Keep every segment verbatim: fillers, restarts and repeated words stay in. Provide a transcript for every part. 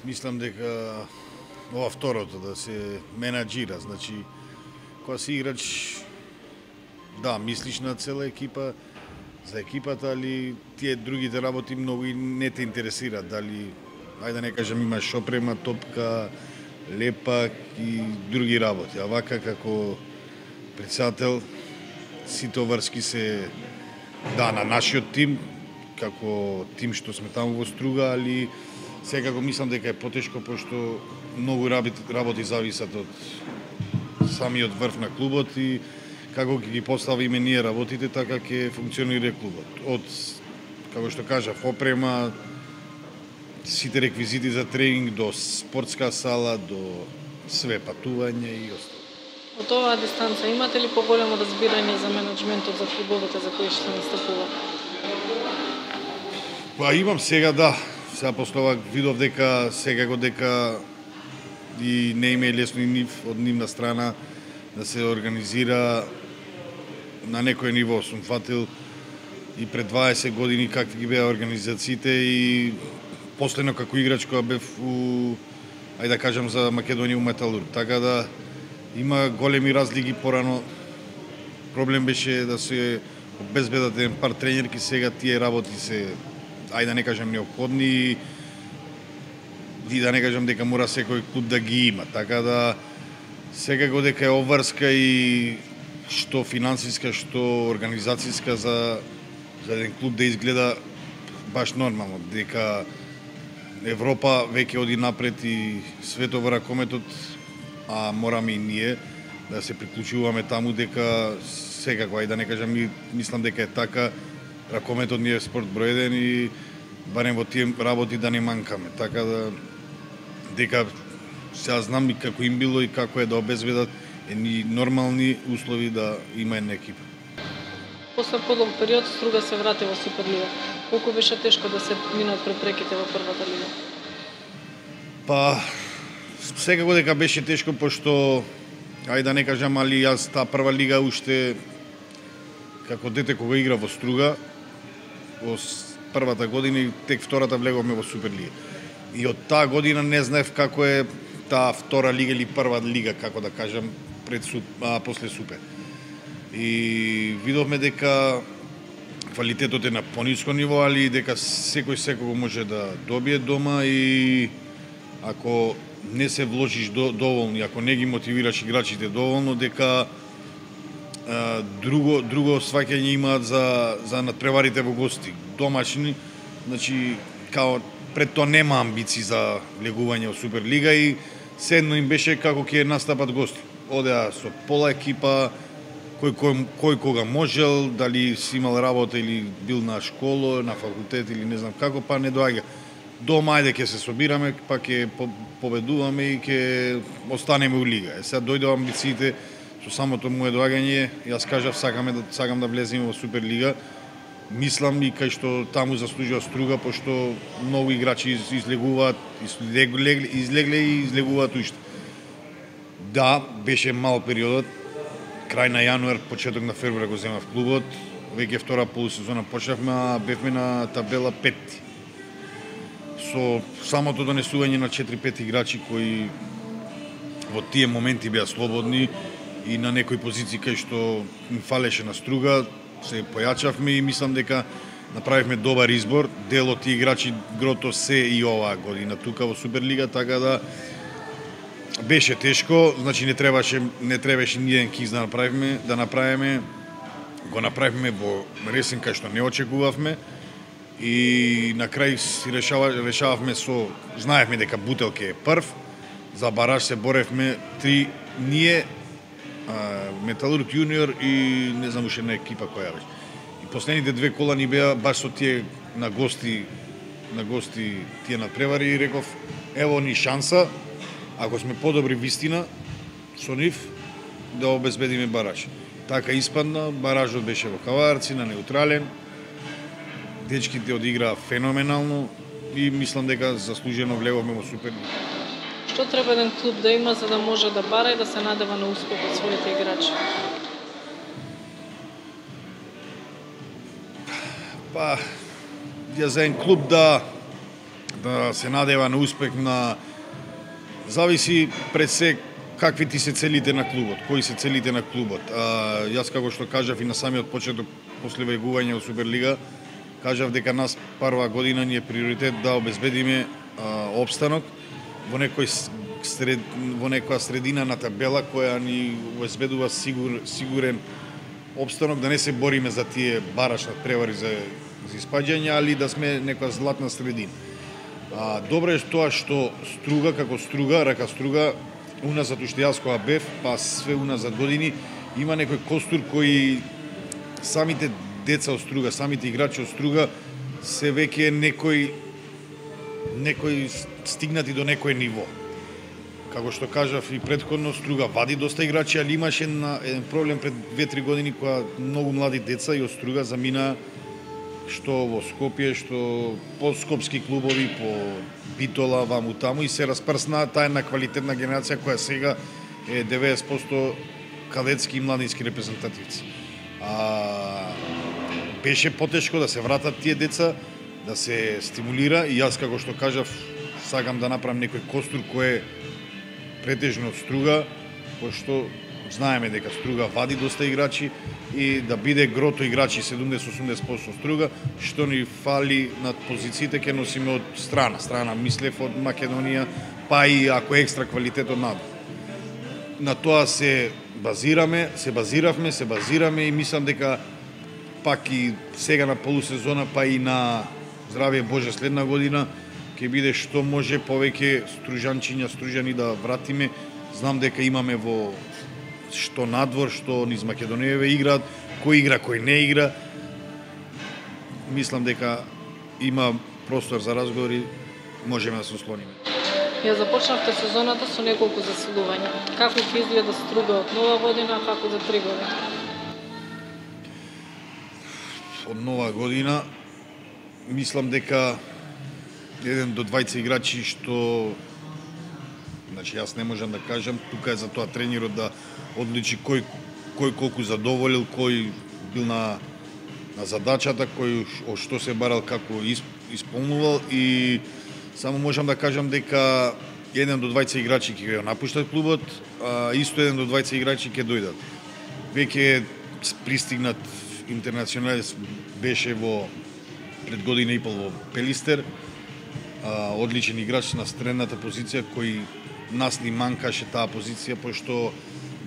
Мислам дека ова второто, да се менаџира, значи кога си играч, да, мислиш на цела екипа, за екипата, али тие другите работи многу и не те интересираат, дали, ајде да не кажем, имаш опрема, топка, лепак и други работи. А вака како председател, сите врски се, да, на нашиот тим, како тим што сме таму во Струга, али секако мислам дека е потешко, пошто многу работи, работи зависат од самиот врв на клубот и како ќе ги поставиме ние работите, така ќе функционира клубот. Од, како што кажав, опрема, сите реквизити за тренинг, до спортска сала, до све патување и остало. Од оваа дистанца имате ли поголемо разбирање за менеджментот, за клубовите за кои што настапува? Па имам сега, да. Сега после ова видов дека секако дека и не има лесно и нив од нивна страна да се организира на некој ниво. Сум фатил и пред дваесет години какви ги беа организациите и последно како играч кога бев у, ајде да кажам за Македонија у Металург. Така да има големи разлики. Порано проблем беше да се обезбедат еден пар тренерки, сега тие работи се, ајде да не кажам неопходни и да не кажам дека мора секој клуб да ги има. Така да секако дека е обврска и што финансиска, што организацијска за, за еден клуб да изгледа баш нормално, дека Европа веќе оди напред и светот во ракометот, а мораме и ние да се приклучуваме таму, дека секако, ајде да не кажам, мислам дека е така, ракометот ни е спорт број еден и барем во тие работи да не манкаме. Така да дека сега знам и како им било и како е да обезбедат едни нормални услови да има една екипа. После подолг период Струга се врати во Суперлига. Колку беше тешко да се минат препреките во првата лига? Па секако дека беше тешко, пошто ајде да не кажам, али јас таа прва лига уште како дете кога игра во Струга, во првата година и тек втората влеговме во Суперлига. И од таа година не знаев како е таа втора лига или прва лига, како да кажам, пред а, после Супер. И видовме дека квалитетот е на пониско ниво, али дека секој секого може да добие дома и ако не се вложиш до, доволно, ако не ги мотивираш играчите доволно, дека а, друго друго сваќање имаат за за надпреварите во гости. Домашни, значи као пред тоа нема амбиции за влегување во Суперлига и седно им беше како ќе настапат гости. Одеа со пола екипа, кој, кој, кој кога можел, дали си имал работа или бил на школа, на факултет или не знам како, па не доаѓа. Дома ајде ќе се собираме, па ќе победуваме и ќе останеме у лига. Е, сега дојде амбициите со самото мое доаѓање, јас кажав сакаме да сакам да влеземе во Суперлига. Мислам и кај што таму заслужува Струга, пошто многу играчи излегуваат, излегле, излегле и излегуваат уште. Да, беше мал периодот, крај на јануар, почеток на февруар го земав клубот, веќе втора полусезона почнавме, а бевме на табела петти. Со самото донесување на четири-пет играчи кои во тие моменти беа слободни и на некои позиции кај што им фалеше на Струга, се појачавме и мислам дека направивме добар избор. Дел од тие играчи грото се и оваа година тука во Суперлига, така да беше тешко, значи не требаше не требаше ни еден киз да направиме, да направиме. Го направивме во ресен кај што не очекувавме и на крај си решава, решававме со, знаевме дека Бутелке е прв, за бараж се боревме три ние, Металург јуниор и не знам уште една екипа која беше. И последните две кола ни беа баш со тие на гости, на гости тие надпревари и реков ево ни шанса, ако сме подобри вистина со нив да обезбедиме бараж. Така испадна, баражот беше во Каварци на неутрален. Дечките одиграа феноменално и мислам дека заслужено влеговме во Суперлига. Што треба еден клуб да има за да може да бара и да се надева на успех од своите играчи? Па, ја за еден клуб да да се надева на успех, на зависи пред се какви ти се целите на клубот, кои се целите на клубот. А, јас како што кажав и на самиот почеток после вајгување во Суперлига, кажав дека нас прва година ни е приоритет да обезбедиме а, обстанок во некој сред, во некоја средина на табела која ни обезбедува сигур, сигурен обстанок, да не се бориме за тие бараш превари за, за испаѓање, али да сме некоја златна средина. А, добро е тоа што Струга како Струга, рака Струга, уназад уште јас кога бев, па све уназад години, има некој костур кој самите деца од Струга, самите играчи од Струга се веќе некој некој стигнати до некој ниво. Како што кажав и претходно, Струга вади доста играчи, али имаше еден проблем пред две-три години кога многу млади деца и од Струга замина што во Скопје, што по скопски клубови, по Битола, ваму таму и се распрсна таа една квалитетна генерација која сега е деветдесет проценти кадетски и младински репрезентативци. А, беше потешко да се вратат тие деца, да се стимулира и јас како што кажав сакам да направам некој костур кој е претежно од Струга, пошто знаеме дека Струга вади доста играчи и да биде грото играчи седумдесет-осумдесет проценти Струга, што ни фали над позициите ќе носиме од страна, страна мислев од Македонија, па и ако екстра квалитет од надвор. На тоа се базираме, се базиравме, се базираме и мислам дека пак и сега на полусезона, па и на здравие Боже следна година ќе биде што може повеќе стружанчиња, стружани да вратиме. Знам дека имаме во што надвор, што низ Македонијаве играат, кој игра, кој не игра. Мислам дека има простор за разговори, можеме да се ослониме. Ја започнавте сезоната со неколку засилувања. Како ќе изгледа Струга од нова година, како за три години? Од нова година мислам дека еден до двајца играчи што, значи јас не можам да кажам, тука е за тоа тренерот да одличи кој кој колку задоволил, кој бил на на задачата, кој од што се барал, како исполнувал и само можам да кажам дека еден до двајца играчи ќе го напуштат клубот, а исто еден до двајца играчи ќе дојдат. Веќе пристигнат интернационалец беше во пред година и пол во Пелистер, а, одличен играч на средната позиција кој нас ни манкаше таа позиција, пошто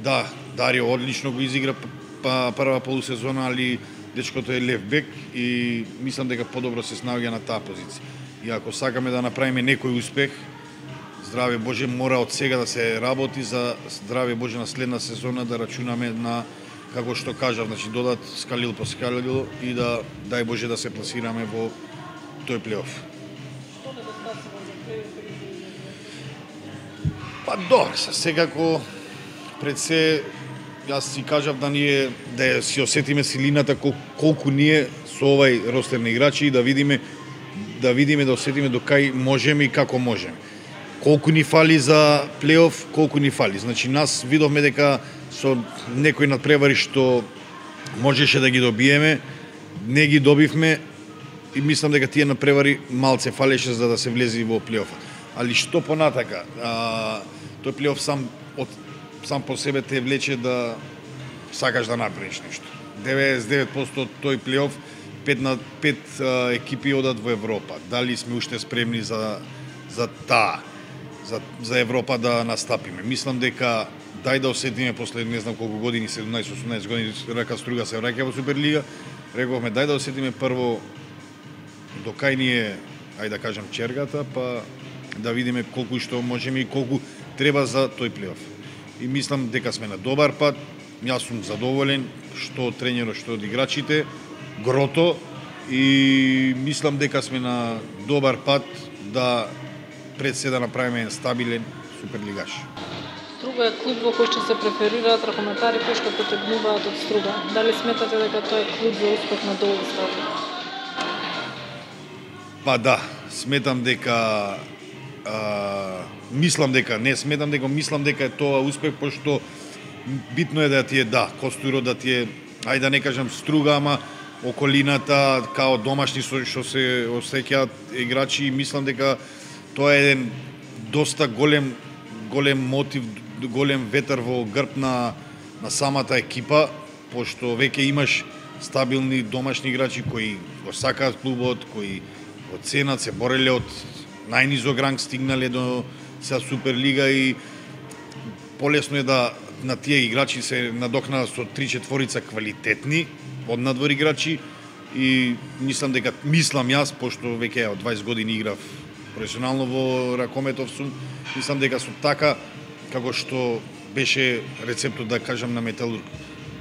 да, Дарио одлично го изигра па прва полусезона, али дечкото е лев бек и мислам дека подобро се снаоѓа на таа позиција. И ако сакаме да направиме некој успех, здраве Боже, мора од сега да се работи за здраве Боже на следна сезона да рачунаме на, како што кажав, значи додат скалил по скалил и да, дај Боже, да се пласираме во тој плейоф. Па добро, секако пред се јас си кажав да ние да си осетиме силината кол, колку ние со овај ростер на играчи и да видиме да видиме да осетиме до кај можеме и како можеме. Колку ни фали за плейоф, колку ни фали. Значи нас видовме дека со некои надпревари што можеше да ги добиеме, не ги добивме и мислам дека тие надпревари малце фалеше за да се влези во плейофот. Али што понатака, а, тој плейоф сам од сам по себе те влече да сакаш да направиш нешто. деветдесет и девет проценти од тој плейоф, пет на пет а, екипи одат во Европа. Дали сме уште спремни за за таа, за за Европа да настапиме. Мислам дека дај да осетиме после не знам колку години, седумнаесет-осумнаесет години, рака Струга се враќа во Суперлига. Рековме дај да осетиме прво до кај ни е, ајде да кажам, чергата, па да видиме колку и што можеме и колку треба за тој плейоф. И мислам дека сме на добар пат. Јас сум задоволен што од тренерот, што од играчите, грото, и мислам дека сме на добар пат да пред се да направиме стабилен суперлигаш. Струга е клуб во кој што се преферираат ракометари кои што потегнуваат од Струга. Дали сметате дека тоа е клуб за успех на долги стави? Па да, сметам дека а, мислам дека, не сметам дека, мислам дека е тоа успех, пошто битно е да ти е, да, костурот да ти е, ајде да не кажам Струга, ама околината, као домашни со што се осеќаат играчи, и мислам дека тоа е еден доста голем голем мотив, голем ветер во грб на на самата екипа, пошто веќе имаш стабилни домашни играчи кои го сакаат клубот, кои го ценат, се бореле од најнизок ранг, стигнале до сега Суперлига, и полесно е да на тие играчи се надокнадат со три-четворица квалитетни однадвор играчи, и мислам дека мислам јас, пошто веќе од дваесет години играв професионално во ракометов сум, мислам дека со така како што беше рецептот, да кажам, на Металург,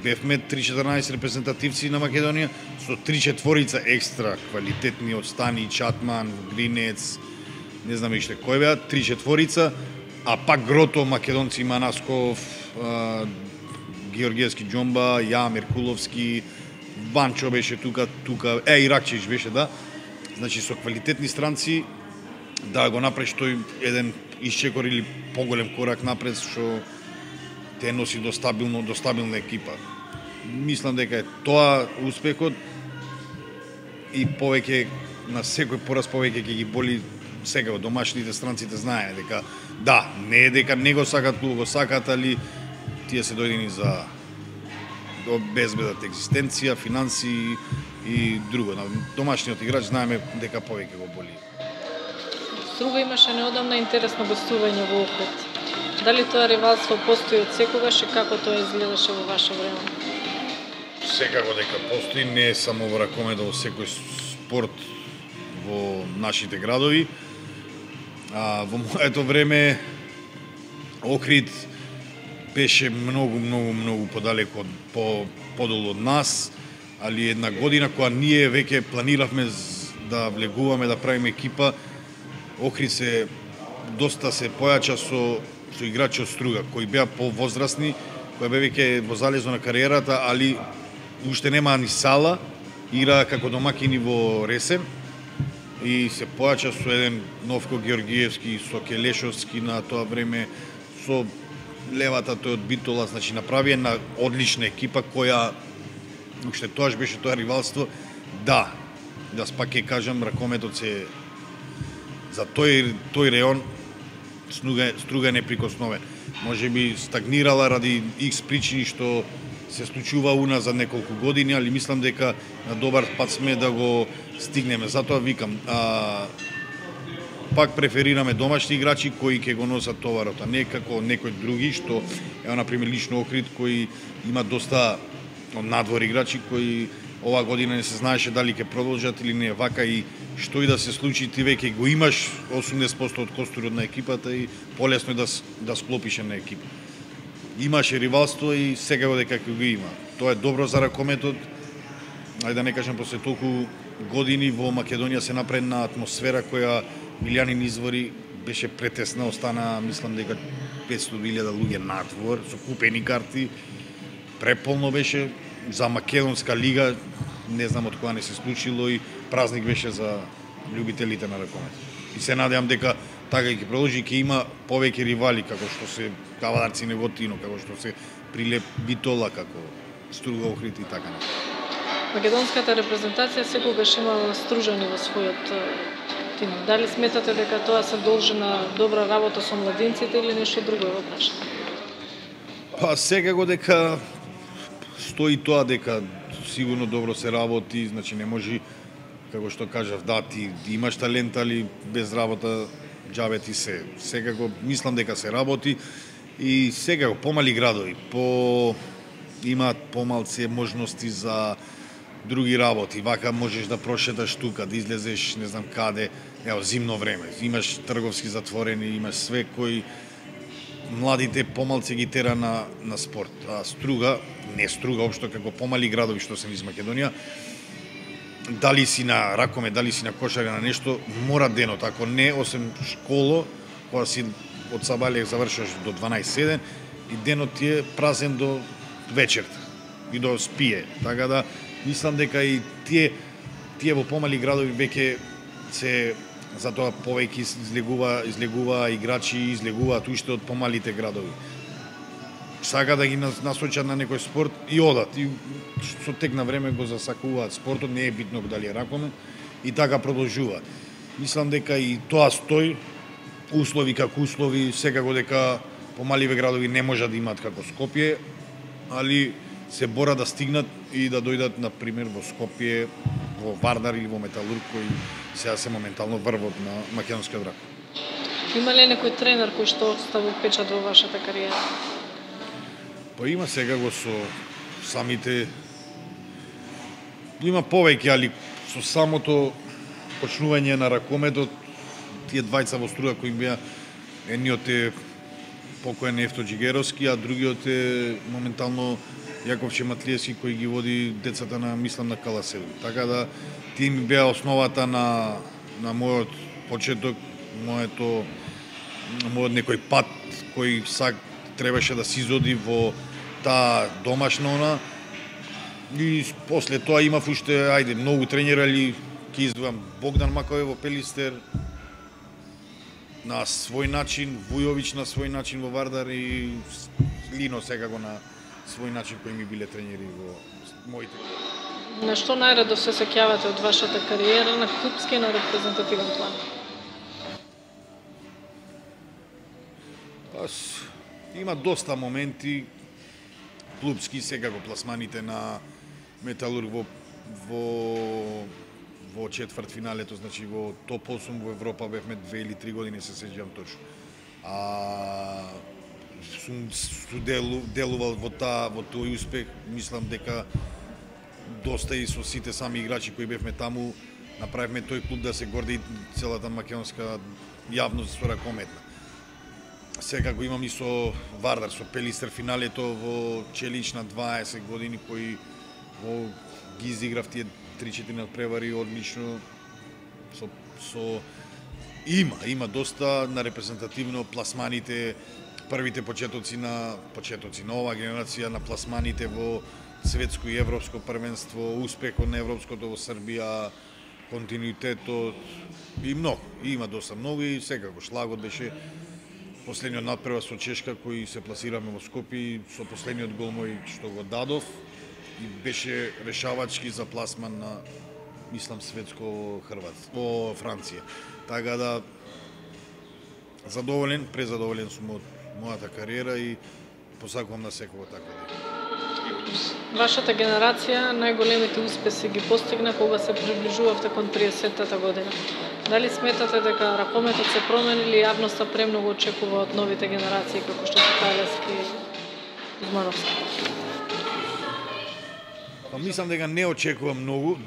бевме три-четрнаесет репрезентативци на Македонија со три-четворица екстра квалитетни од Стани, Чатман, Гринец, не знам иште кој беа, три-четворица, а пак грото македонци: Манасков, Георгиевски Џомба, Ја Меркуловски, Банчо беше тука, тука, е, Иракчевич беше, да. Значи со квалитетни странци да го направиш тој еден исчекор или поголем корак напред, што те носи до стабилно, до стабилна екипа. Мислам дека е тоа успехот, и повеќе на секој пораз повеќе ќе ги боли сега домашните, странците знаеа дека да, не е дека не го сакат клуб, го сакат, али тие се дојдени за да обезбедат екзистенција, финанси и друго. На домашниот играч знаеме дека повеќе го боли. Струга имаше неодамна интересно гостување во Охрид. Дали тоа ривалство постои од секогаш и како тоа изгледаше во ваше време? Секако дека постои, не е само во ракометот, во секој спорт во нашите градови. А, во моето време Охрид беше многу, многу, многу подалеку од по подолу од нас, али една година кога ние веќе планиравме да влегуваме, да правиме екипа, Охрид се доста се појача со со играчи од Струга, кои беа повозрастни, кои беа веќе во залезо на кариерата, али уште немаа ни сала, играа како домакини во Ресен, и се појача со еден Новко Георгиевски, со Келешовски на тоа време, со левата тој од Битола, значи направи една одлична екипа која уште тоаш беше тоа ривалство. Да, да пак ќе кажам, ракометот се за тој тој реон Струга, Струга неприкосновен. Може би стагнирала ради икс причини што се случува уназад неколку години, али мислам дека на добар пат сме да го стигнеме. Затоа викам, а, пак преферираме домашни играчи кои ќе го носат товарот, а не како некои други, што е, например, лично Охрид, кои има доста од надвор играчи кои оваа година не се знаеше дали ќе продолжат или не. Вака и што и да се случи, ти веќе го имаш осумдесет проценти од костурот на екипата и полесно е да, да склопиш на екипа. Имаше ривалство и сега дека ќе го има. Тоа е добро за ракометот. Ајде да не кажам, после толку години во Македонија се направи една атмосфера која Милјанин извори беше претесна, остана, мислам дека петстотини илјади луѓе надвор со купени карти. Преполно беше за македонска лига, не знам од кога не се случило, и празник беше за љубителите на ракомет. И се надевам дека така ќе продолжи, ќе има повеќе ривали, како што се Кавадарци Неготино, како што се Прилеп Битола, како Струга Охрид и така на. Македонската репрезентација секогаш имала стружани во својот тим. Дали сметате дека тоа се должи на добра работа со младинците или нешто друго е во прашање? Па секако дека стои тоа дека сигурно добро се работи, значи не може, како што кажав, да, ти имаш талент, али без работа џабе ти се. Секако мислам дека се работи, и секако помали градови, по имаат помалце можности за други работи. Вака можеш да прошеташ тука, да излезеш не знам каде, ево зимно време. Имаш трговски затворени, имаш све кои младите помалце ги тера на, на спорт. А Струга, не Струга, општо како помали градови што се низ Македонија, дали си на ракоме, дали си на кошаре, на нешто, мора денот. Ако не, осем школо, кога си од сабале завршаш до дванаесет седен, и денот ти е празен до вечерта и до спие. Така да, мислам дека и тие, тие во помали градови веќе се, затоа повеќе излегува, излегува играчи, излегуваат уште од помалите градови. сака да ги насочат на некој спорт и одат. И со тек на време го засакуваат спортот, не е битно дали е ракомет, и така продолжува. Мислам дека и тоа стои, услови како услови, секако дека помаливе градови не можат да имаат како Скопје, али се борат да стигнат и да дојдат, на пример, во Скопје, во Вардар или во Металург, кои сега се моментално врвот на македонскиот рак. Има ли некој тренер кој што оставил печат во вашата кариера? Па има секако со самите... Има повеќе, али со самото почнување на ракометот, тие двајца во Струга кои беа, едниот е покоен Ефто Джигеровски, а другиот е моментално Јаков Чематлиевски кој ги води децата на, мислам, на Каласеду. Така да тие ми беа основата на, на мојот почеток, моето, мојот некој пат кој сак требаше да се изоди во таа домашна она. И после тоа имав уште, ајде, многу тренери, али ќе издвојам Богдан Макове во Пелистер на свој начин, Вујовиќ на свој начин во Вардар и Лино секако на свој начин кои ми биле тренери во моите. На што најредо се сеќавате од вашата кариера на клупски и на репрезентативен план? Пас, има доста моменти клупски, секако пласманите на Металург во во во четвртфиналето, значи во топ осум во Европа бевме две или три години, се сеќавам точно. А сум делу, делувал во таа во тој успех, мислам дека доста и со сите сами играчи кои бевме таму, направивме тој клуб да се горди целата македонска јавност со ракометна. Секако имам и со Вардар, со Пелистер финалето во Челич на дваесет години, кои во ги изиграв тие три-четири надпревари одлично. Со, со има, има доста на репрезентативно пласманите, првите почетоци на почетоци на оваа генерација на пласманите во светско и европско првенство, успехот на европското во Србија, континуитетот и многу, и има доста многу и секако шлагот беше последниот надпревар со Чешка кој се пласираме во Скопје, со последниот гол мој што го дадов и беше решавачки за пласман на, мислам, светско Хрват во Франција. Така да задоволен, презадоволен сум од мојата кариера и посакувам на секој така да. Вашата генерација најголемите успеси ги постигна кога се приближувавте кон триесеттата година. Дали сметате дека ракометот се промени или јавноста премногу очекува од новите генерации како што се Талески и Змановски? Па мислам дека не очекувам многу,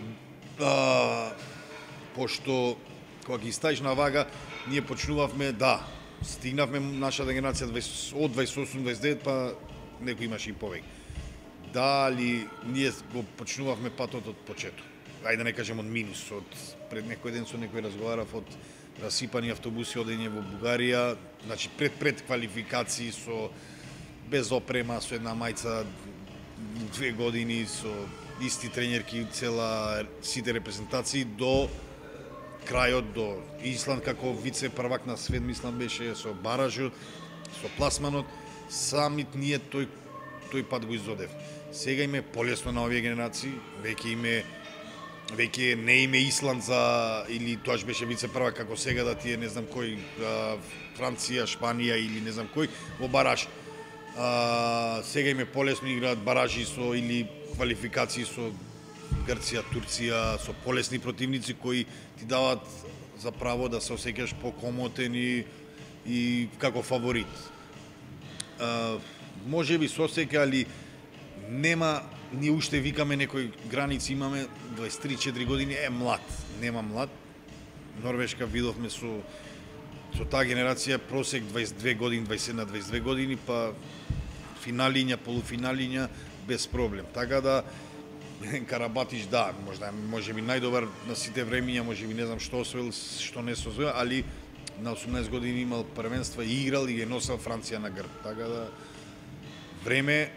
а, пошто кога ги ставиш на вага, ние почнувавме, да, стигнавме нашата генерација од дваесет и осум дваесет и девет, па некој имаше и повеќе. Дали ние го почнувавме патот од почеток. Ајде да не кажем од минус, од пред некој ден со некој разговарав од расипани автобуси одење во Бугарија, значи пред пред квалификации со без опрема, со една мајца две години, со исти тренерки, цела сите репрезентации до крајот, до Исланд како вице првак на свет, мислам беше со баражот, со пласманот, самит ние тој тој пат го изодев. Сега име полесно на овие генерации, веќе име веќе не име Исланд за или тоаш беше вице првак како сега да тие не знам кој а, Франција, Шпанија или не знам кој во бараж. А, сега име полесно играат баражи со или квалификации со Грција, Турција, со полесни противници кои ти дават за право да се осеќаш покомотен и, и како фаворит. А, може би се осеќа, али нема, ние уште викаме некои граници имаме, дваесет и три четири години е млад, нема млад. Норвешка видовме со со таа генерација просек дваесет и две години, дваесет и едно дваесет и две години, па финалиња, полуфиналиња без проблем. Така да Карабатич, да, можда може би најдобар на сите времиња, може би не знам што освоил, што не се освоил, али на осумнаесет години имал првенства и играл и ги носел Франција на грб. Така да време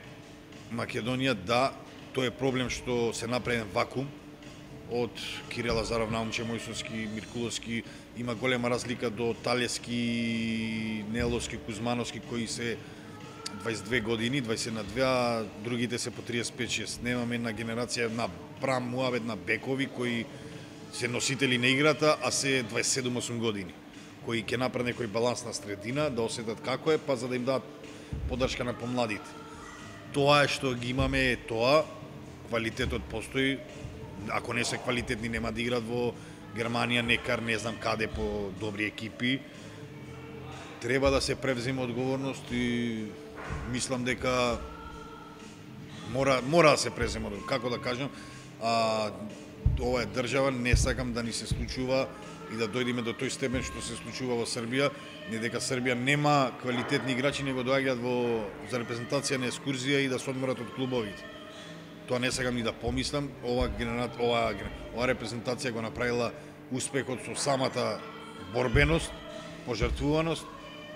Македонија, да, тоа е проблем што се направен вакуум од Кире Лазаров, Наумче Мојсовски, Миркуловски, има голема разлика до Талески, Неловски, Кузмановски кои се дваесет и две години, дваесет на две, а другите се по триесет и пет шест. Немаме една генерација на прам муавет на бекови кои се носители на играта, а се дваесет и седум осум години, кои ќе направат некој баланс на средина, да осетат како е, па за да им дадат поддршка на помладите. Тоа е што ги имаме, е тоа, квалитетот постои, ако не се квалитетни нема да играт во Германија, некар, не знам каде по добри екипи. Треба да се превземе одговорност и мислам дека мора мора да се преземе одговорност. Како да кажам, а, ова е држава, не сакам да ни се случува и да дојдеме до тој степен што се случува во Србија, не дека Србија нема квалитетни играчи, него доаѓаат во за репрезентација на екскурзија и да се одморат од клубовите. Тоа не сакам ни да помислам. Ова генерат, ова ова репрезентација го направила успехот со самата борбеност, пожртвуваност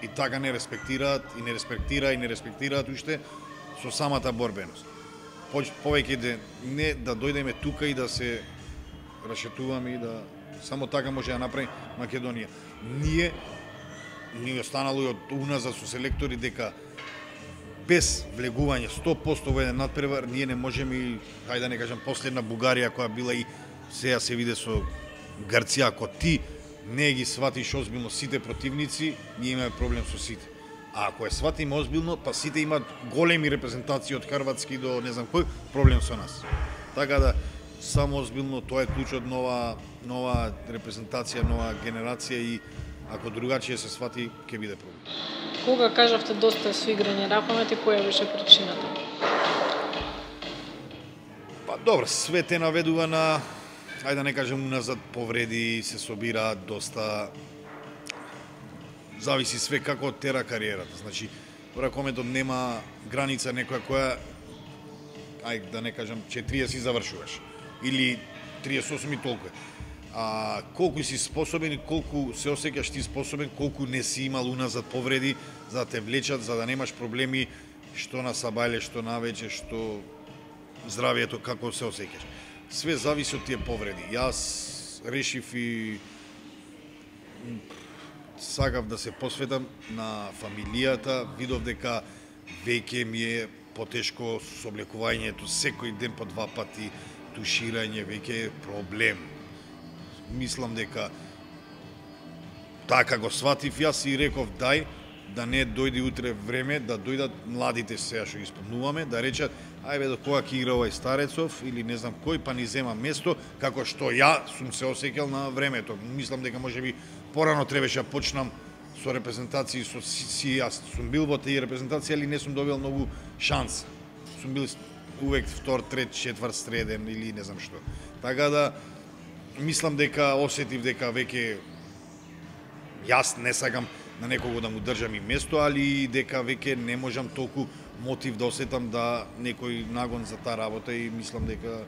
и така не респектираат и не респектира и не респектираат уште со самата борбеност. Повеќе да не да дојдеме тука и да се рашетуваме и да само така може да направи Македонија. Ние ни останало и од уназад со селектори дека без влегување сто проценти во еден надпревар ние не можеме и хајде да не кажам последна Бугарија која била и сега се виде со Грција, ако ти не ги сватиш озбилно сите противници, ние имаме проблем со сите. А ако е сватиме озбилно, па сите имаат големи репрезентации од хрватски до не знам кој, проблем со нас. Така да само озбилно, тоа е клучот нова нова репрезентација, нова генерација и ако другачие се свати, ќе биде проблем. Кога кажавте доста со играње ракомет и која беше причината? Па добро, све те наведува на, ајде да не кажем уназад, повреди, се собираат доста, зависи све како тера кариерата. Значи, ракометот нема граница некоја која, ајде да не кажем, четириесет завршуваш или триесет и осум и толку е. А колку си способен и колку се осеќаш ти способен, колку не си имал уназад повреди за да те влечат, за да немаш проблеми што на сабајле, што навече, што здравието, како се осеќаш. Све зависи од тие повреди. Јас решив и сакав да се посветам на фамилијата, видов дека веќе ми е потешко со облекувањето, секој ден по два пати туширање, веќе е проблем. Мислам дека така го сватив јас и реков дај да не дојде утре време да дојдат младите сега што исполнуваме, да речат ајде до кога ќе игра овај Старецов или не знам кој, па ни зема место, како што ја сум се осеќал на времето. Мислам дека можеби порано требаше да почнам со репрезентации, со си јас сум бил во тие репрезентации, али не сум добил многу шанса. Сум бил увек втор, трет, четврт, среден или не знам што. Така да мислам дека осетив дека веќе јас не сакам на некого да му држам и место, али дека веќе не можам толку мотив да осетам да некој нагон за таа работа и мислам дека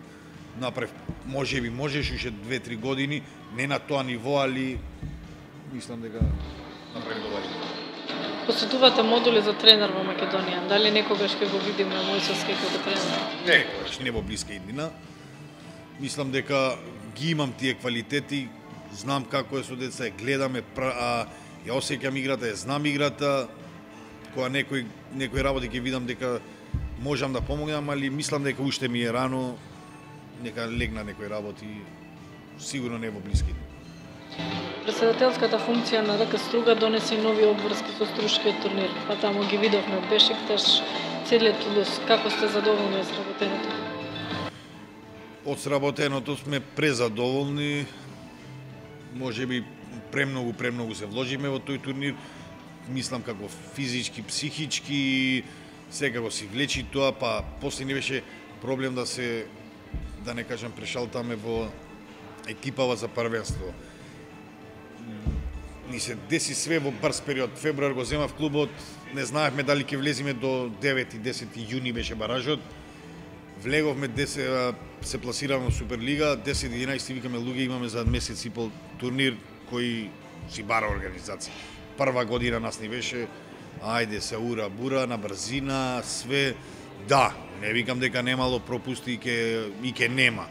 направив, можеби можеш уште две-три години, не на тоа ниво, али мислам дека направив добар избор. Посетувате модули за тренер во Македонија. Дали некогаш ќе го видиме Мојсовски како тренер? Некогаш, не во блиска иднина. Мислам дека ги имам тие квалитети, знам како е со деца, гледаме, а, ја осеќам играта, ја знам играта, кога некој некој работи ќе видам дека можам да помогнам, али мислам дека уште ми е рано, нека легна некој работи, сигурно не во блиски. Председателската функција на РК Струга донесе нови обврски со струшкиот турнир, па таму ги видовме Бешикташ, целиот Тулус. Како сте задоволни од сработеното? Од сработеното сме презадоволни, можеби премногу, премногу се вложиме во тој турнир, мислам како физички, психички, секако си влечи тоа, па после не беше проблем да се, да не кажам, прешалтаме во екипава за првенство. Ни се деси све во брз период. Февруар го земав клубот, не знаевме дали ќе влеземе до девети десети јуни беше баражот. Влеговме, десет, се пласиравме во Суперлига, десет единаесет викаме луѓе, имаме за месец и пол турнир кој си бара организација. Прва година нас ни беше, ајде се ура бура на брзина, све, да, не викам дека немало пропусти и ке, и ке нема.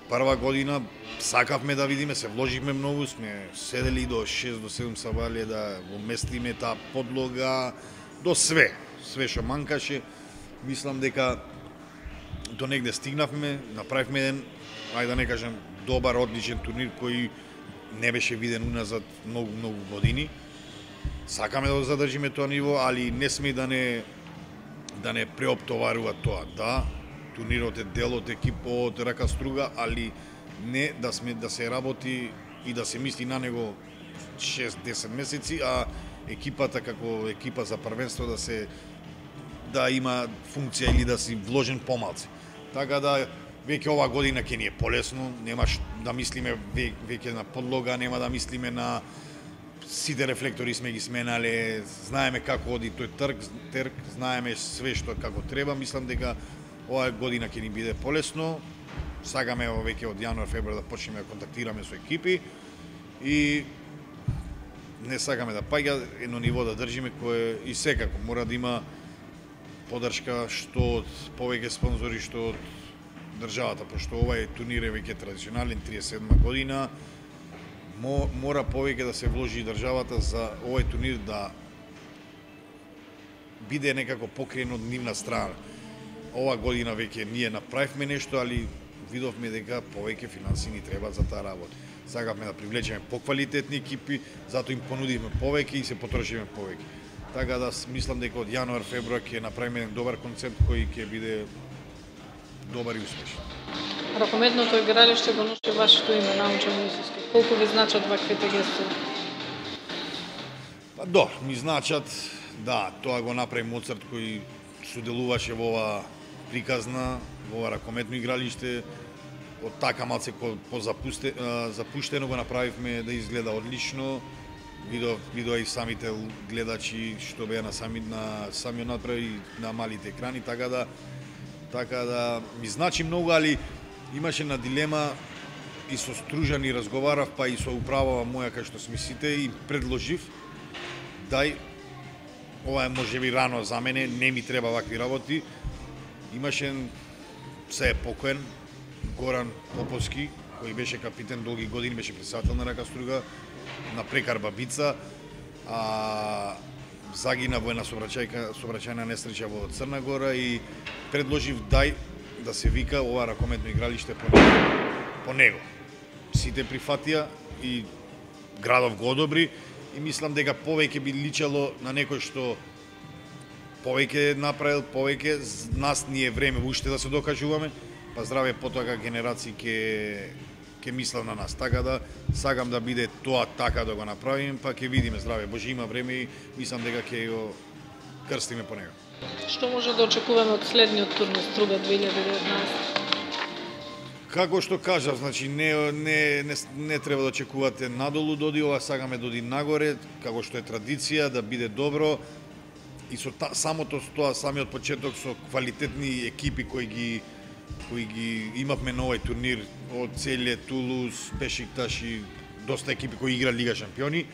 Прва година сакавме да видиме, се вложивме многу, сме седели до шест до седум сабале да го местиме таа подлога, до све. све што манкаше. Мислам дека до негде стигнавме, направивме еден, ајде да не кажем, добар, одличен турнир кој не беше виден уназад многу, многу години. Сакаме да го задржиме тоа ниво, али не сме да не да не преоптоварува тоа. Да, турнирот е дел од екипа од Рака Струга, али не да сме да се работи и да се мисли на него шест-десет месеци, а екипата како екипа за првенство да се да има функција или да си вложен помалце. Така да веќе ова година ќе ни е полесно, немаш да мислиме веќе на подлога, нема да мислиме на сите рефлектори сме ги сменале, знаеме како оди тој трк, трк, знаеме све што како треба. Мислам дека оваа година ќе ни биде полесно. Сакаме веќе од јануар, февруар да почнеме да контактираме со екипи и не сакаме да паѓа едно ниво да држиме кое и секако мора да има поддршка што од повеќе спонзори, што од државата, пошто овај турнир е веќе традиционален, триесет и седма година. Мора повеќе да се вложи државата за овој турнир да биде некако покриен од нивна страна. Ова година веќе ние направивме нешто, али видовме дека повеќе финанси ни треба за таа работа. Сакавме да привлечеме поквалитетни екипи, затоа им понудивме повеќе и се потрошиме повеќе. Така да мислам дека од јануар, февруар ќе направиме еден добар концепт кој ќе биде добар и успешен. Ракометното игралиште го носи вашето име, Наумче Мојсиски. Колку ви значат ваквите гестови? Па до, ми значат, да, тоа го направи Моцарт кој соделуваше во ова приказна, во ова ракометно игралиште. Од така малце позапуштено го направивме да изгледа одлично. Видов, видоа и самите гледачи што беа на сами на самиот надпрев и на малите екрани, така да така да ми значи многу, али имаше на дилема и со Стружани разговарав, па и со управава моја кај што сме сите и предложив дај ова е можеби рано за мене, не ми треба вакви работи. Имаше се е покоен Горан Поповски, кој беше капитен долги години, беше председател на Рака Струга, на Прекар Бабица, а загина во една сообраќајна несреќа во Црна Гора и предложив дај да се вика ова ракометно игралиште по него. По него. Сите прифатија и градов го одобри и мислам дека повеќе би личало на некој што повеќе направил, повеќе нас ни е време уште да се докажуваме, па здраве потоа генерации ќе ќе мислат на нас. Така да сакам да биде тоа така да го направиме, па ќе видиме здраве. Боже, има време и мислам дека ќе го крстиме по него. Што може да очекуваме од следниот турнир Струга две илјади и деветнаесета? Како што кажав, значи не не не, не треба да очекувате надолу доди, ова сакаме доди нагоре, како што е традиција да биде добро и со та, самото тоа самиот почеток со квалитетни екипи кои ги кои ги имавме на овој турнир од Целје, Тулуз, Бешикташ и доста екипи кои игра Лига шампиони,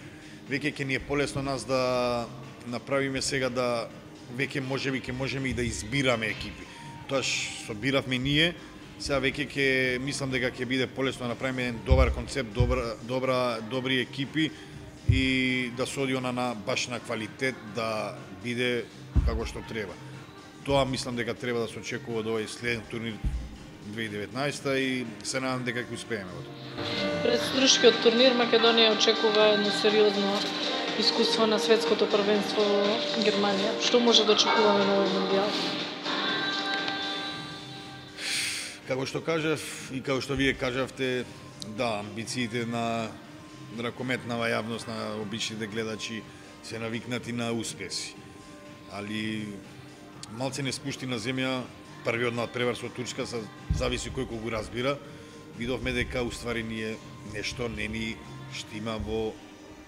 веќе ќе ни е полесно нас да направиме сега да веќе можеби ќе можеме и да избираме екипи. Тоаш собиравме ние, сега веќе ќе мислам дека ќе биде полесно да направиме еден добар концепт, добра добра добри екипи и да се оди она на баш на квалитет да биде како што треба. Тоа мислам дека треба да се очекува од овој следен турнир две илјади и деветнаесета и се надам дека ќе успееме во тоа. Пред струшкиот турнир Македонија очекува едно сериозно искуство на светското првенство во Германија. Што може да очекуваме на овој мондијал? Како што кажав и како што вие кажавте, да, амбициите на ракометнава јавност, на обичните гледачи се навикнати на успеси. Али малце не спушти на земја првиот надпревар со Турска, са зависи кој го разбира. Видовме дека уствари ние нешто не ни штима во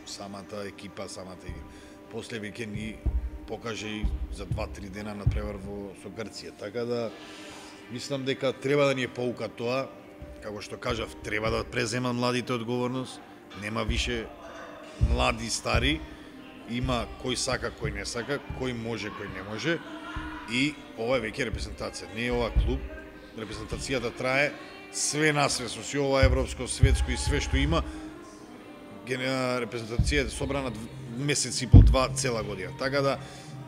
самата екипа, самата игра. После веќе ни покаже и за два-три дена надпревар во со Грција. Така да мислам дека треба да ни е поука тоа, како што кажав, треба да презема младите одговорност, нема више млади стари, има кој сака, кој не сака, кој може, кој не може. И ова е веќе репрезентација, не е ова клуб. Репрезентацијата трае све насве со си ова европско, светско и све што има. Репрезентацијата е собрана месец и пол, два цела година. Така да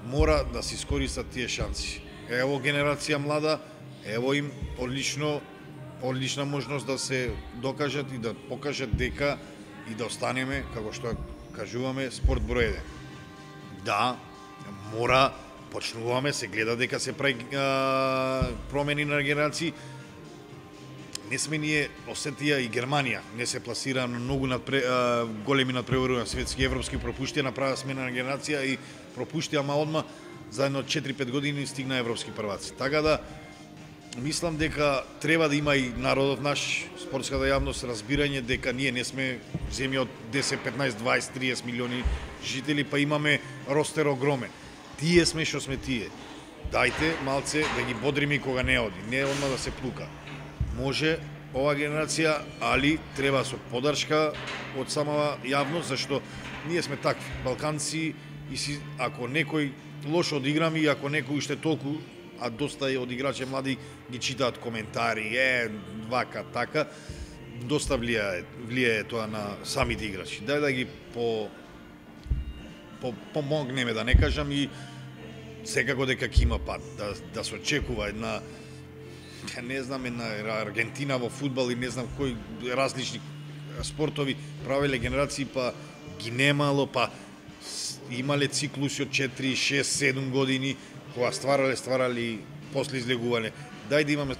мора да се искористат тие шанси. Ево генерација млада, ево им одлично, одлична можност да се докажат и да покажат дека и да останеме, како што кажуваме, спорт број еден. Да, мора, почнуваме, се гледа дека се прави промени на генерации. Не сме ние, Осетија и Германија, не се пласира на многу надпре, а, големи надпреварувања светски, европски пропуштија, направа смена на генерација и пропуштија, ама одма за едно четири-пет години стигна европски прваци. Така да, мислам дека треба да има и народот наш, спортската јавност, разбирање дека ние не сме земја од десет, петнаесет, дваесет, триесет милиони жители, па имаме ростер огромен. Тие сме што сме тие. Дајте малце да ги бодриме кога не оди, не одма да се плука. Може ова генерација, али треба со подршка од самава јавност, зашто ние сме такви, балканци, и си, ако некој лошо одиграме и ако некој уште толку, а доста од играчи млади ги читаат коментари, е, вака, така, доста влијае, влијае тоа на самите играчи. Дај да ги по, по помогнеме, да не кажам, и секако дека ќе има пат, да, да се очекува една, не знам, една Аргентина во фудбал и не знам кои различни спортови правеле генерации, па ги немало, па имале циклуси од четири, шест, седум години, кога стварале, стварали, после излегувале. Дај да имаме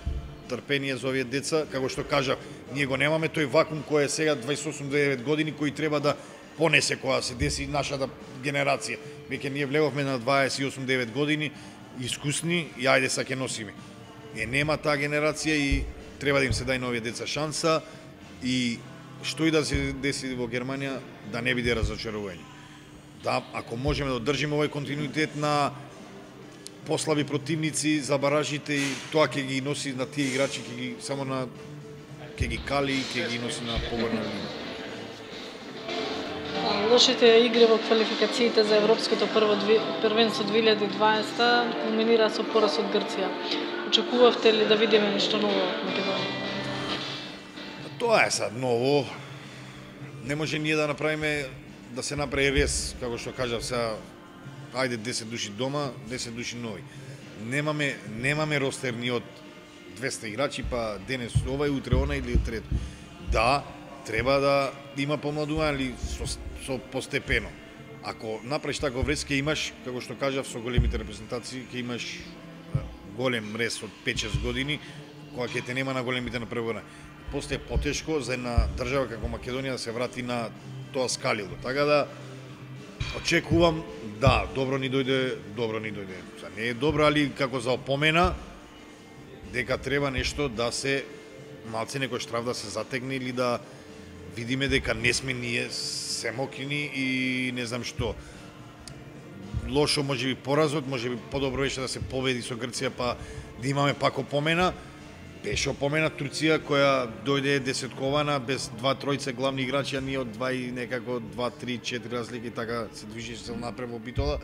трпение за овие деца, како што кажав, ние го немаме тој вакуум кој е сега дваесет и осум до девет години, кој треба да понесе кога се деси нашата генерација. Веќе ние влеговме на дваесет и осум до девет години, искусни, и ајде са ќе носиме. Е, нема таа генерација и треба да им се дај на овие деца шанса, и што и да се деси во Германија, да не биде разочарување. Да, ако можеме да одржиме овој континуитет на послаби противници за баражите, и тоа ќе ги носи на тие играчи, ќе ги само на ќе ги кали, ќе ги носи на погорна линија. Лошите игри во квалификациите за европското прво првенство две илјади и дваесета кулминира со пораз од Грција. Очекувавте ли да видиме нешто ново од Македонија? Тоа е сад ново. Не може ние да направиме, да се направи рез, како што кажав сега, ајде десет души дома, десет души нови. Немаме, немаме ростер ни од двеста играчи, па денес ова и утре она или трето. Да, треба да има помладување, али со, со постепено. Ако направиш таков рез, ќе имаш, како што кажав, со големите репрезентации, ќе имаш голем рез од пет-шест години, кога ќе те нема на големите напреварувања. После е потешко за една држава како Македонија да се врати на тоа скалило. Така да, очекувам, да, добро ни дојде, добро ни дојде. За не е добро, али како за опомена, дека треба нешто да се, малце некој штраф да се затегне, или да видиме дека не сме ние семокини и не знам што. Лошо може би поразот, може би подобро беше да се победи со Грција, па да имаме пак опомена. Беше опомена Турција, која дојде десеткована без два-тројца главни играчи, а ние од два и некако два, три, четири разлики, така се движеше се напред во битола.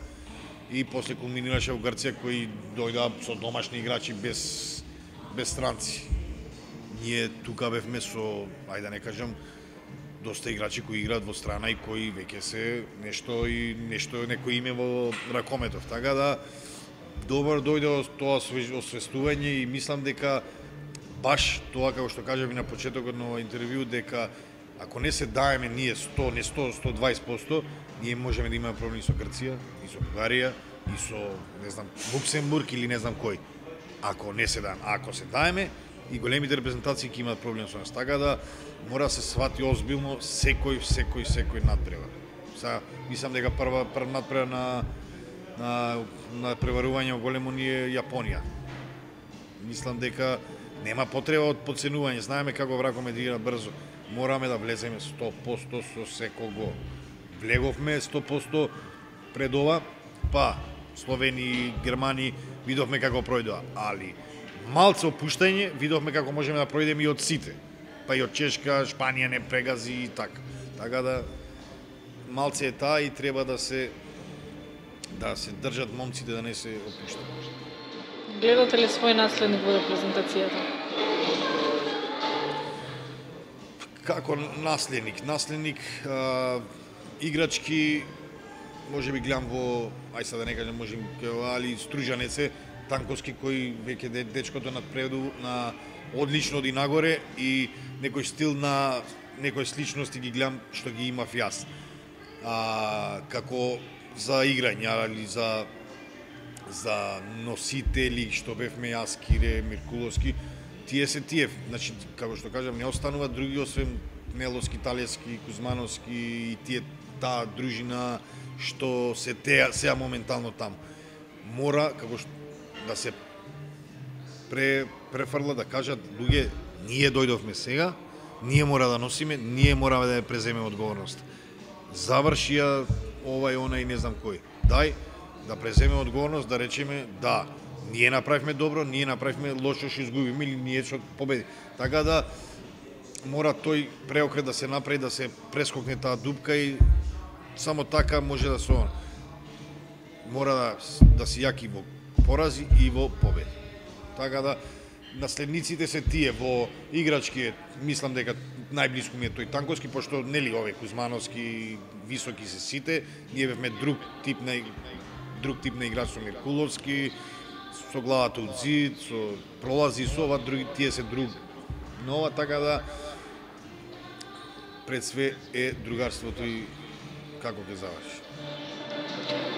И после кулминираше во Грција, кои дојдоа со домашни играчи без, без странци. Ние тука бевме со, ајде да не кажам, доста играчи кои играат во страна и кои веќе се нешто и нешто некој име во ракометов. Така да, добро дојде тоа освестување и мислам дека баш тоа, како што кажав и на почетокот на интервју, дека ако не се даеме ние сто, не сто, сто и дваесет проценти, ние можеме да имаме проблеми со Грција, и со Бугарија, и со, не знам, Луксембург или не знам кој. Ако не се даеме, ако се даеме, и големите репрезентации ќе имаат проблем со нас. Така да, мора да се свати озбилно секој, секој, секој надпревар. Сега, мислам дека прва, прва надпревар на, на, на преварување во големо ни е Јапонија. Мислам дека нема потреба од подценување, знаеме како вракоме да игра брзо. Мораме да влеземе сто проценти со секого. Влеговме сто проценти пред ова, па Словенија, Германија, видовме како пројдоа, али малце опуштање, видовме како можеме да пројдеме и од сите. Па и од Чешка, Шпанија не прегази и така. Така да, малце е таа и треба да се да се држат момците да не се опуштат. Гледате ли свој наследник во репрезентацијата? Како наследник? Наследник, а, играчки може би гледам во, ај сега да не кажам, може али Стружанеце, Танковски кој веќе дечкото надпреду на одлично оди нагоре и некој стил на некои сличности ги гледам што ги имав јас. А, како за играње, али за за носители што бевме јас, Кире, Миркуловски, тие се тие, значи како што кажам, не остануваат други освен Неловски, Талевски, Кузмановски и тие таа дружина што се теа сега моментално таму. Мора како што да се пре префрла да кажат луѓе, ние дојдовме сега, ние мора да носиме, ние мораме да ја преземеме одговорност. Заврши ја овај онај не знам кој. Дај да преземеме одговорност, да речеме да, ние направивме добро, ние направивме лошо, што изгубиме или ние што победи. Така да мора тој преокрет да се направи, да се прескокне таа дупка и само така може да се мора да, да се јаки во порази и во победи. Така да наследниците се тие во играчки, мислам дека најблиску ми е тој Танковски, пошто нели овие Кузмановски високи се сите, ние бевме друг тип на друг тип на играч со Миркуловски, со главата од зид, со пролази со ова други, тие се друг. Но ова така да пред све е другарството и како ќе заврши.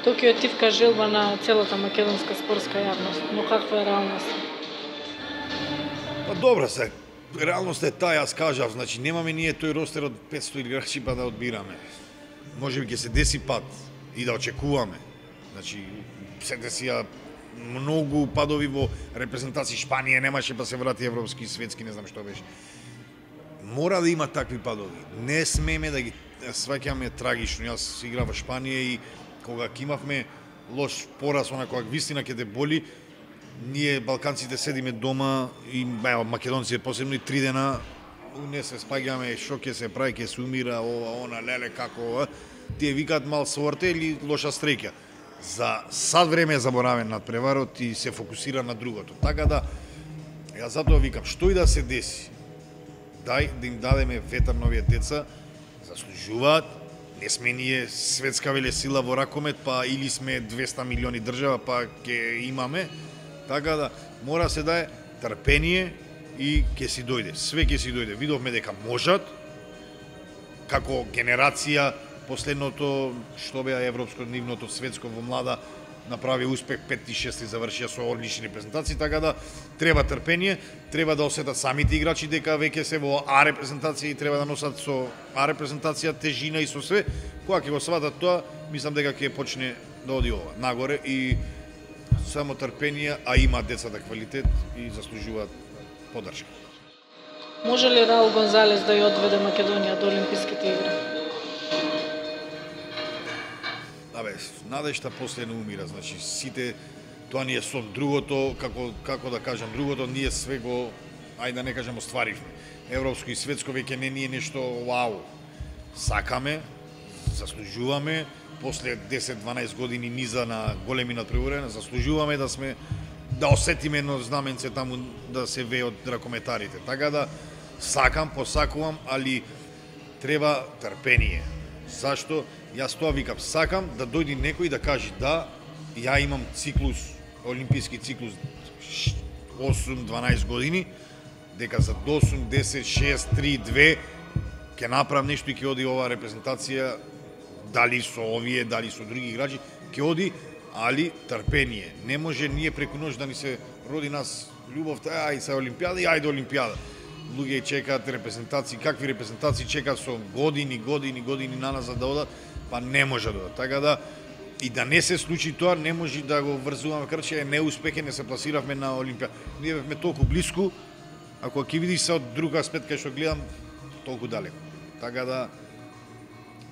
Токио е тивка желба на целата македонска спортска јавност, но каква е реалноста? Па добра се, реалноста е таа, јас кажав, значи немаме ние тој ростер од петсто играчи па да одбираме. Може би ќе се деси пат и да очекуваме. Значи, се десија многу падови во репрезентација. Шпанија немаше па се врати европски, светски, не знам што беше. Мора да има такви падови. Не смеме да ги сваќаме трагично. Јас играв во Шпанија и кога имавме лош пораз, она кога вистина ќе те боли, ние балканците седиме дома и ево, македонците посебно и три дена не се спаѓаме, што ќе се прави, ќе се умира, ова, она, леле, како ова. Тие викаат мал сорте или лоша стреќа. За сад време е заборавен над преварот и се фокусира на другото. Така да, јас затоа викам, што и да се деси, дај да им дадеме ветар на овие деца, заслужуваат, не сме ние светска велесила во ракомет, па или сме двеста милиони држава, па ќе имаме. Така да, мора се дае трпение и ќе си дојде. Све ќе си дојде. Видовме дека можат, како генерација, последното што беа европско, нивното светско во млада, направи успех, пет и шест завршија со одлични репрезентации, така да треба трпение, треба да осетат самите играчи дека веќе се во А репрезентација и треба да носат со А репрезентација тежина и со све. Кога ќе го сватат тоа, мислам дека ќе почне да оди ова нагоре и само трпение, а има децата квалитет и заслужуваат поддршка. Може ли Раул Гонзалес да ја одведе Македонија до Олимписките игри? Абе, надежта после не умира, значи сите тоа ни е сон. Другото, како како да кажам, другото ние све го, ајде да не кажам, остваривме. Европско и светско веќе не ни е нешто вау. Сакаме, заслужуваме, после десет-дванаесет години низа на големи надпреварувања, заслужуваме да сме да осетиме едно знаменце таму да се вее од ракометарите. Така да сакам, посакувам, али треба трпение. Зашто? Јас тоа викам, сакам да дојде некој да каже да, ја имам циклус, олимписки циклус осум-дванаесет години, дека за осум, десет, шест, три, две ќе направам нешто и ќе оди оваа репрезентација, дали со овие, дали со други играчи, ќе оди, али трпение. Не може ние преку ноќ да ни се роди нас љубовта, ај се олимпијада и ајде олимпијада. Луѓе чекаат репрезентации, какви репрезентации чекаат со години, години, години наназад да одат, па не може да одат. Така да и да не се случи тоа, не може да го врзуваме крче, е неуспех, не се пласиравме на олимпијада. Ние бевме толку блиску, ако ќе видиш се од друг аспект кај што гледам, толку далеко. Така да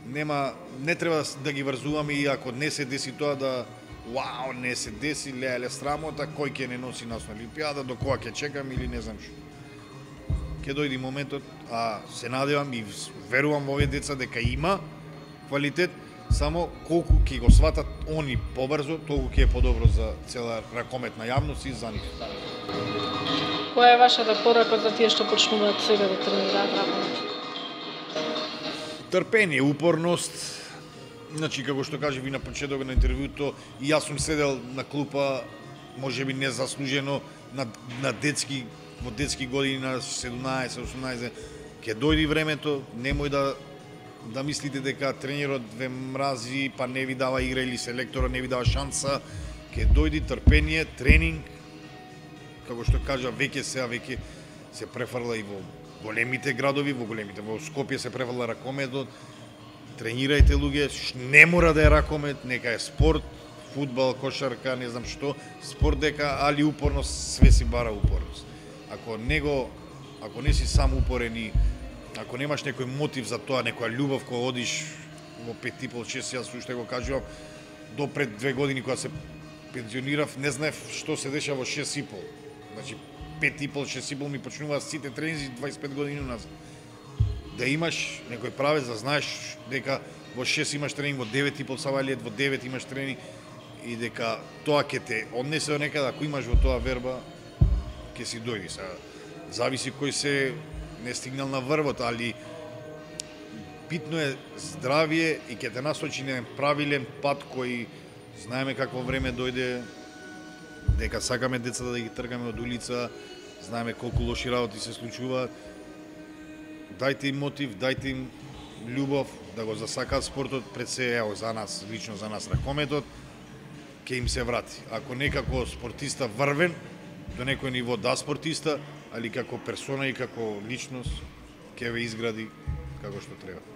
нема, не треба да ги врзуваме и ако не се деси тоа да вау, не се деси, леле срамота, кој ќе не носи нас на олимпијада, до кога ќе чекам или не знам што. Ќе дојде моментот, а се надевам и верувам во овие деца дека има квалитет, само колку ќе го сватат они побрзо, толку ќе е подобро за цела ракометна јавност и за нив. Која е вашата порака за тие што почнуваат сега да тренираат ракомет? Трпение, упорност, Значи, како што кажа ви на почетокот на интервјуто, и јас сум седел на клупа, можеби незаслужено, на, на детски, во детски години, на седумнаесет осумнаесет, ќе дојди времето, немој да да мислите дека тренерот ве мрази, па не ви дава игра или селекторот не ви дава шанса, ќе дојди трпение, тренинг, како што кажа, веќе сега веќе се префрла и во големите градови, во големите, во Скопје се префрла ракометот. Тренирајте луѓе, не мора да е ракомет, нека е спорт, фудбал, кошарка, не знам што, спорт дека, али упорност, све си бара упорност. Ако него, ако не си сам упорен и ако немаш некој мотив за тоа, некоја љубов кога одиш во пет и пол шест, јас уште го кажувам, до пред две години кога се пензионирав, не знаев што се деша во шест и пол. Значи, пет и пол, шест и пол ми почнуваа сите тренинзи дваесет и пет години назад. Да имаш некој правец, да знаеш дека во шест имаш тренинг, во девет и пол савалиет, во девет имаш тренинг и дека тоа ќе те однесе од некаде, ако имаш во тоа верба, ќе си дојди. Сега, зависи кој се не стигнал на врвот, али битно е здравие и ќе те насочи на правилен пат кој знаеме какво време дојде, дека сакаме децата да ги тргаме од улица, знаеме колку лоши работи се случуваат. Дајте им мотив, дајте им љубов да го засакаат спортот, пред се ево за нас, лично за нас ракометот, ќе им се врати. Ако некако спортиста врвен, до некој ниво да спортиста, али како персона и како личност ќе ве изгради како што треба.